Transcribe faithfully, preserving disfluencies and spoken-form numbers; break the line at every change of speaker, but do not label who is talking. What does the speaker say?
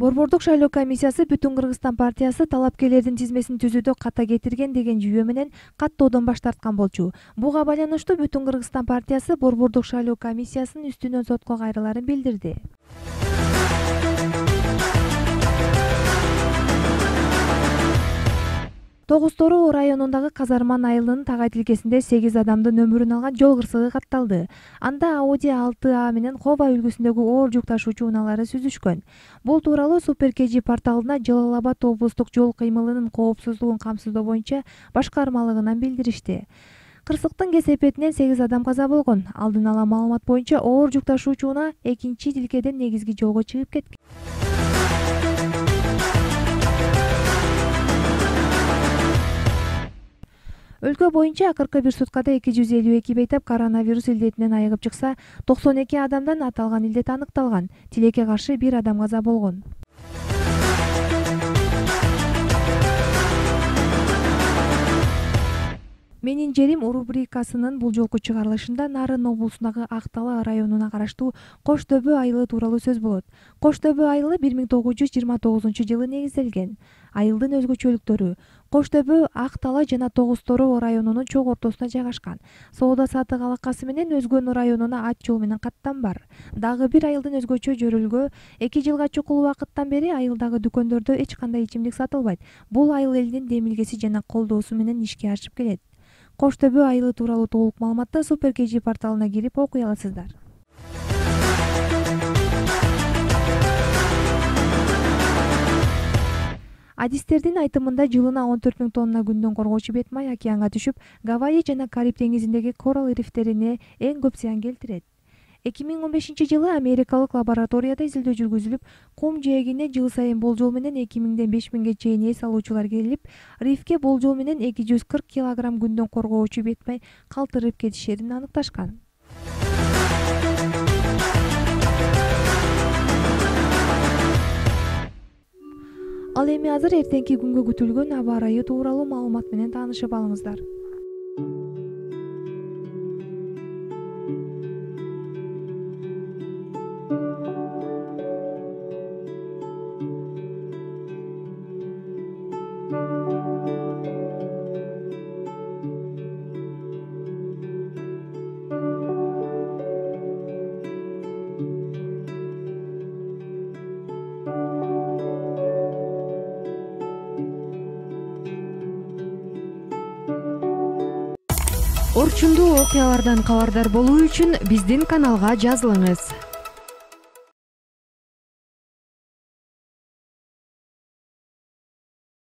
Борбордук шайлоо комиссиясы Бүтүн Кыргызстан партиясы талапкерлердин тизмесин түзүүдө ката кетирген деген жүйө менен каттоодон баш тарткан болчу. Буга байланыштуу Бүтүн Кыргызстан партиясы Борбордук шайлоо комиссиясынын үстүнөн сотко кайрыларын билдирди. Тогуз-Тороо районундагы Казарман айылынын Тагай тилкесинде сегиз адамдын өмүрүн алган жол кырсыгы катталды. Анда Audi алты А менен Хова үлгүсүндөгү оор жүк ташуучу унаалары сүзүшкөн. Бул тууралуу Супер Кежи порталына Жалал Абад облустук жол кыймылынын коопсуздугун камсыздоо боюнча башкармалыгынан билдиришти. Кырсыктын кесепетинен сегиз адам каза болгон. Алдын ала маалымат боюнча оор жүк ташуучу унаа экинчи тилкеден негизги жолго чыгып кеткен. Өлкө боюнча акыркы бир суткада эки жүз элүү эки бейтап коронавирус илдетинен айыгып чыкса, токсон эки адамдан аталган илдет аныкталган. Тилекке каршы бир адам каза болгон. Менин жерим рубрикасынын бул жолку чыгарылышында Нарын облусундагы Ак-Тала районуна караштуу Кош Дөбө айылы тууралуу сөз болот. Кош Дөбө айылы бир миң тогуз жүз жыйырма тогузунчу жылы негизделген. Айылдын өзгөчөлүктөрү: Кош Дөбө Ак-Тала жана Тогуз-Тороо районунун чок ортосуна жайгашкан. Соода-саттык алакасы менен Өзгөн районуна ат жол менен каттам бар. Дагы бир айылдын өзгөчө жөрөлгө эки жылга чукул убакыттан бери айылдагы дүкөндөрдө эч кандай ичимдик сатылбайт. Бул айыл элинин демилгеси жана колдоосу менен ишке ашып келет. Кош Дөбө айылы тууралуу толук маалыматты Супер Кежи порталына кирип окуй аласыздар. Адистердин айтымында жылына он төрт миң тонна күндөн коргоочу бет май океанга түшүп, Гавайи жана Кариб деңизиндеги коралл рифтерине эң көп зыян келтирет. эки миң он бешинчи жылы америкалык лабораторияда изилдөө жүргүзүлүп, кум жээгине жыл сайын болжол менен эки миңден беш миңге чейин эс алуучулар келип, рифке болжол менен эки жүз кырк килограмм күндөн коргоочу бет май калтырып кетишерин аныкташкан. Ал эми азыр эртеңки күнгө күтүлгөн аба ырайы тууралуу маалымат менен таанышып алыңыздар.
Орчундуу окуялардан кабардар болуу үчүн биздин каналга жазылыңыз.